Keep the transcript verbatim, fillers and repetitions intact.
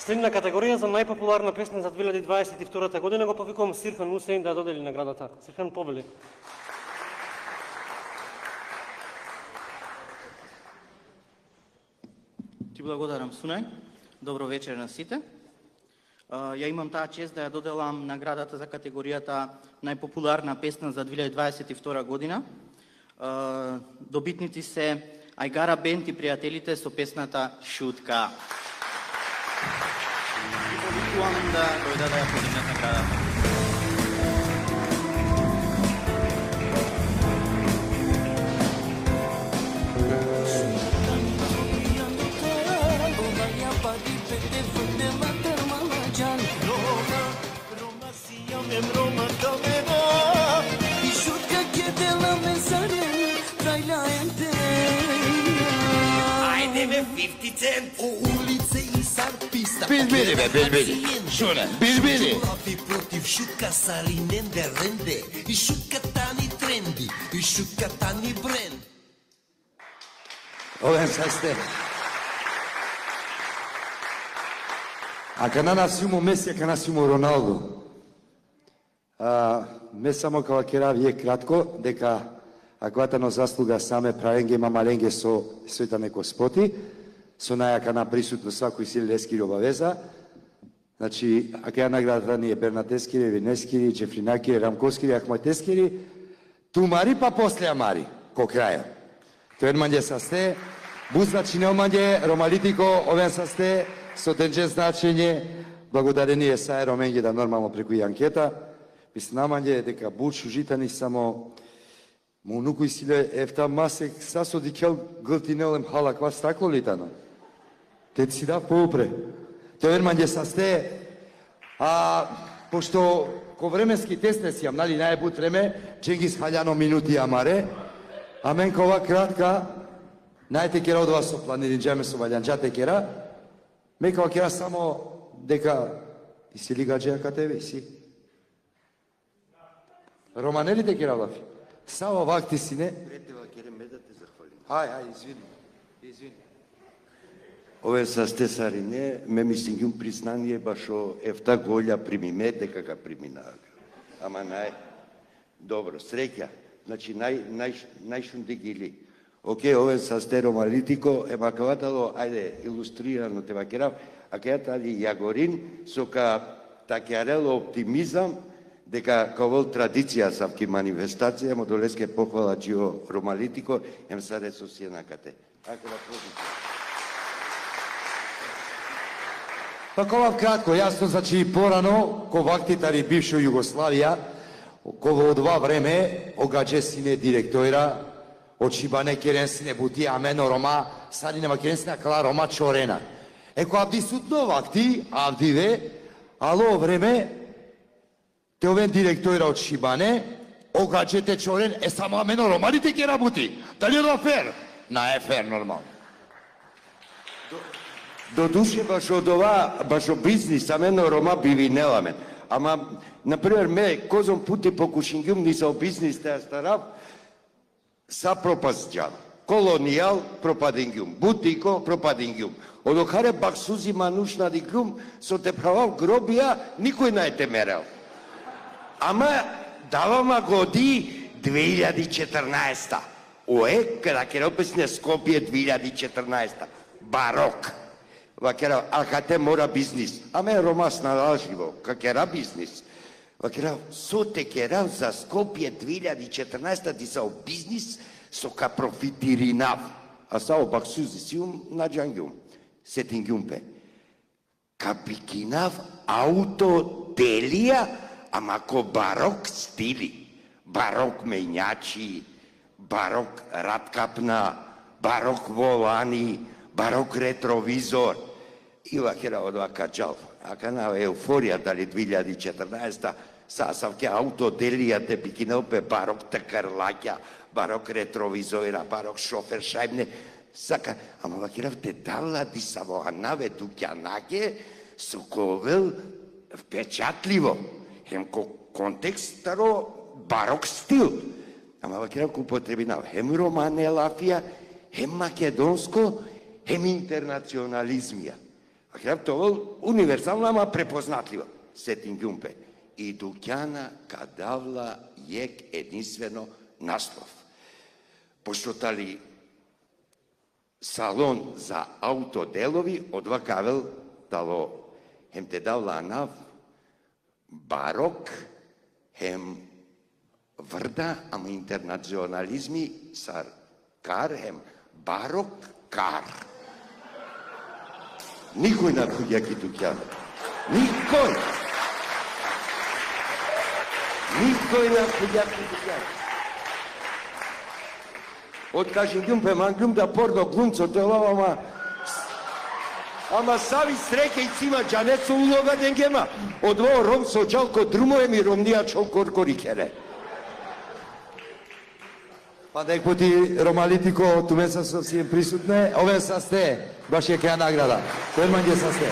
Следна категорија за најпопуларна песна за две илјади дваесет и втора година го повикувам Сирхан Усеин да додели наградата. Сирхан, повели. Ти благодарам, Сунај. Добро вечер на сите. Ја имам таа чест да ја доделам наградата за категоријата најпопуларна песна за две илјади дваесет и втора година. Добитници се Ајгара Бенд и пријателите со песната Шутка. И повикувам да дојда да ја подигнат наградата. O ulice i sarpista. Билбили бе, билбили. Шуне, билбили. Лафи против шутка Саринен де ренде. И шутката ни тренди, и шутката ни бренд. Овен са сте. А кана насимо Меси, а кана насимо Роналдо. А, ме само кава кера вие кратко, дека акватано заслуга саме правенге мамаленге со света неко споти, со најака на присутно свакој сили Лескири обавеза. Значи, ака ја наградата ни е Бернат Ескири, Винескири, Джефринакири, Рамковскири, Ахматескири, тумари па после амари, ко краја. Тој манје са сте, бузначи неоманје, Ромалитико, овен са сте, со денџен значење, благодарение са Роменје да нормално преку и анкета, мислам наманје дека буч ужитани само му нукој силе ефта масек сасо дикел гълтинелем хала ква стакло литано. Те си дав поупре. Тој манје са сте, а пошто ко временски тест не си јам, нали, најбут време, Дженгис Хаљано минути амаре, а мен кова кратка, најте кера од вас со планирин джеме со валјанджате кера, ме кова кера само дека и си ли гаджеја ка тебе, и си. Романелите кера влафи. Сава вакти си не. Претева кере ме да те захвалим. Ај, ај, извини. Извини. Ове са сте Сарине, ме мислим јум признание башо ефта голја примиме дека га приминаа. Ама нај добро, среќа. Значи нај нај најшун дигили. Оке, ове са сте Ромалитико, ема каватало, ајде илустрирано те вакерав, а каја тали Јагорин со ка такјарело оптимизам дека кавол традиција савки манифестација, мо долеске похвала Джио Ромалитико, ем са ресосијанакате. Ако да продите. Па кова кратко, јасно, значи порано, ко вактитари бившо Југославија, кога од два време, огаđe сине директора, од Шибане керен сине бути, амено Рома, сади нема керен сине кала Рома Чорена. Еко авди сутно вакти, авдиве, ало време, те овен директора од Шибане, огаđete Чорен, е само амено Романите ке работи. Дали е фер? На е фер, нормално. До душе баш од ова, баш од бизнис, амено Рома бивинеламе. Ама, например, ме, козом пути по кушингјум, ни са бизнис те старав, са пропазджан. Колонијал, пропадингјум. Бутико, пропадингјум. Одокаре бак сузи манушна дикјум, со те правав гробија, никој не те мерел. Ама, давама годи две илјади и четрнаесета. Ое, када ке описне Скопје две илјади и четрнаесета. Барок. Вакера, а кате мора бизнис. Аме Ромас налаживо, какера бизнис. Вакера, со те керав за Скопје две илјади и четрнаесета ти са бизнис со ка профитиринав. А са обак сузи сиум на джангјум. Сетингјум пе. Капикинав аутоделија, ама ко барок стили. Барок мењачи, барок раткапна, барок волани, барок ретровизор. И вакера од вака джал. Ака на еуфорија дали две илјади и четрнаесета, сасавке аутоделија те пикинелпе барок такарлаќа, барок ретровизора, барок шофер шајбне. Сака, ама вакера те дала ди саво анаве дукјанаке, со ковел впечатливо. Хем ко контекст старо барок стил. Ама вакера ко употребинав хем романе лафија, хем македонско, хем интернационализмија. Хрептовол универсална, ама препознатлива. Сетин Гюмпе. И дуќана кадавла јек единствено наслов. Пошто тали салон за аутоделови, одва кавел дало хем те давла нав барок, хем врда, ама интернационализми сар кар, хем барок кар. Никој на куѓаки дуќана. Никој! Никој на куѓаки дуќана. Од кажем Гюмпе мангум да порно глумцо тело, ама... Ама сави среќа и цима джанецо улога денгема. Од во ром со джалко друмоем и ромнија чол коркорикере. Па дек пути Ромалитико туме са совсем присутне, овен са сте, баш е каја награда. Кој манѓе са сте?